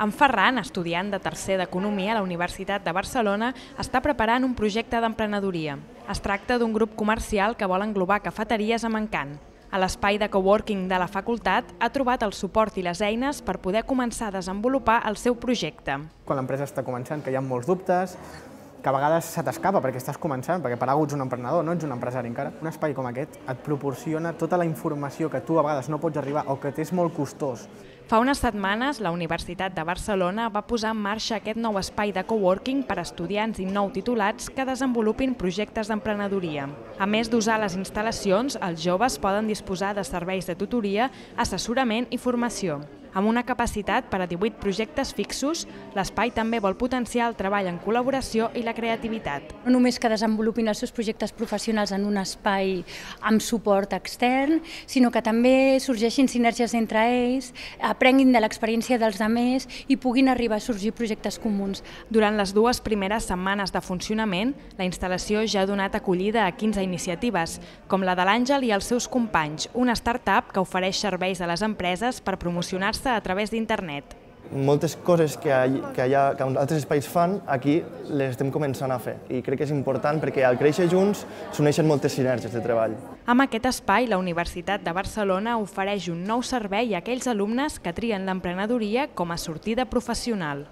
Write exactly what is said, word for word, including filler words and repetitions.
En Ferran, estudiant de tercer d'Economia a la Universitat de Barcelona, està preparant un projecte d'emprenedoria. Es tracta d'un grup comercial que vol englobar cafeteries amb encant. A l'espai de coworking de la facultat ha trobat el suport i les eines per poder començar a desenvolupar el seu projecte. Quan l'empresa està començant, que hi ha molts dubtes, que a vegades se t'escapa perquè estàs començant, perquè per algú ets un emprenedor, no ets un empresari encara. Un espai com aquest et proporciona tota la informació que tu a vegades no pots arribar o que t'és molt costós. Fa unes setmanes, la Universitat de Barcelona va posar en marxa aquest nou espai de coworking per a estudiants i nou titulats que desenvolupin projectes d'emprenedoria. A més d'usar les instal·lacions, els joves poden disposar de serveis de tutoria, assessorament i formació. Amb una capacitat per a divuit projectes fixos, l'espai també vol potenciar el treball en col·laboració i la creativitat. No només que desenvolupin els seus projectes professionals en un espai amb suport extern, sinó que també sorgeixin sinergies entre ells, aprenguin de l'experiència dels altres i puguin arribar a sorgir projectes comuns. Durant les dues primeres setmanes de funcionament, la instal·lació ja ha donat acollida a quinze iniciatives, com la de l'Àngel i els seus companys, una start-up que ofereix serveis a les empreses per promocionar-se a través d'internet. Moltes coses que, que, hi ha, que altres espais fan, aquí les estem començant a fer i crec que és important perquè al créixer junts s'uneixen moltes sinergies de treball. Amb aquest espai, la Universitat de Barcelona ofereix un nou servei a aquells alumnes que trien l'emprenedoria com a sortida professional.